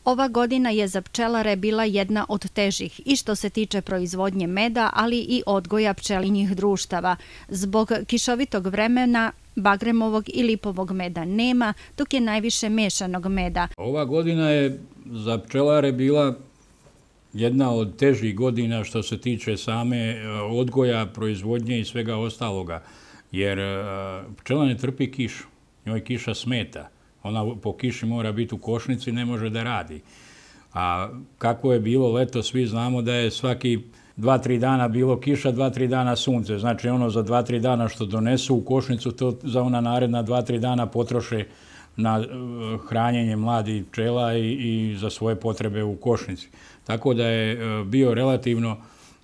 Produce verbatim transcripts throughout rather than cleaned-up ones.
Ova godina je za pčelare bila jedna od težih i što se tiče proizvodnje meda, ali i odgoja pčelinjih društava. Zbog kišovitog vremena bagremovog i lipovog meda nema, dok je najviše mešanog meda. Ova godina je za pčelare bila jedna od težih godina što se tiče same odgoja, proizvodnje i svega ostaloga, jer pčela ne trpi kišu, njoj kiša smeta. Ona po kiši mora biti u košnici, ne može da radi. A kako je bilo leto, svi znamo da je svaki dva, tri dana bilo kiša, dva, tri dana sunce. Znači ono za dva, tri dana što donesu u košnicu, to za ona naredna dva, tri dana potroše na hranjenje mladih pčela i, i za svoje potrebe u košnici. Tako da je bio relativno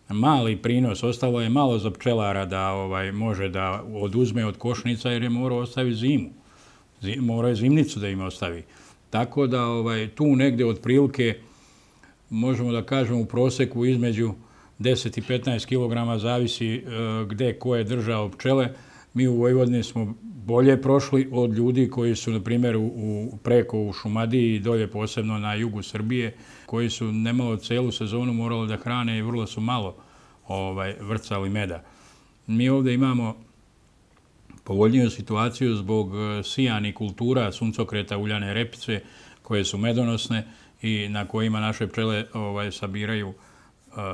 mali prinos, ostalo je malo za pčelara da ovaj, može da oduzme od košnica jer je morao ostaviti zimu. Morao je zimnicu da im ostavi. Tako da ovaj, tu negde otprilike možemo da kažemo u proseku između deset i petnaest kilograma zavisi gde ko je držao pčele. Mi u Vojvodini smo bolje prošli od ljudi koji su, na primjer, u, preko u Šumadiji i dolje posebno na jugu Srbije, koji su nemalo celu sezonu morali da hrane i vrlo su malo ovaj, vrcali meda. Mi ovdje imamo povoljniju situaciju zbog sijanih kultura, suncokreta, uljane repice, koje su medonosne i na kojima naše pčele ovaj, sabiraju uh,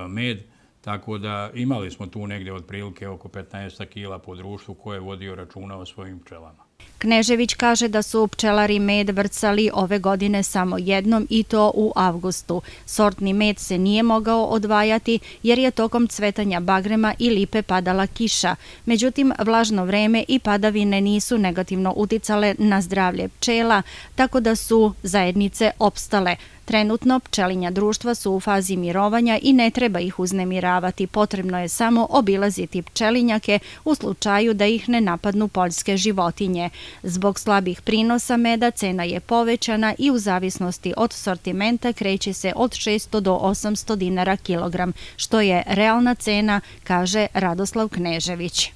med. Tako da imali smo tu negdje otprilike oko petnaest kila po društvu koje je vodio računa o svojim pčelama. Knežević kaže da su pčelari med vrcali ove godine samo jednom i to u avgustu. Sortni med se nije mogao odvajati jer je tokom cvetanja bagrema i lipe padala kiša. Međutim, vlažno vreme i padavine nisu negativno uticale na zdravlje pčela, tako da su zajednice opstale. Trenutno pčelinja društva su u fazi mirovanja i ne treba ih uznemiravati. Potrebno je samo obilaziti pčelinjake u slučaju da ih ne napadnu poljske životinje. Zbog slabih prinosa meda cena je povećana i u zavisnosti od sortimenta kreće se od šesto do osamsto dinara kilogram, što je realna cena, kaže Radoslav Knežević.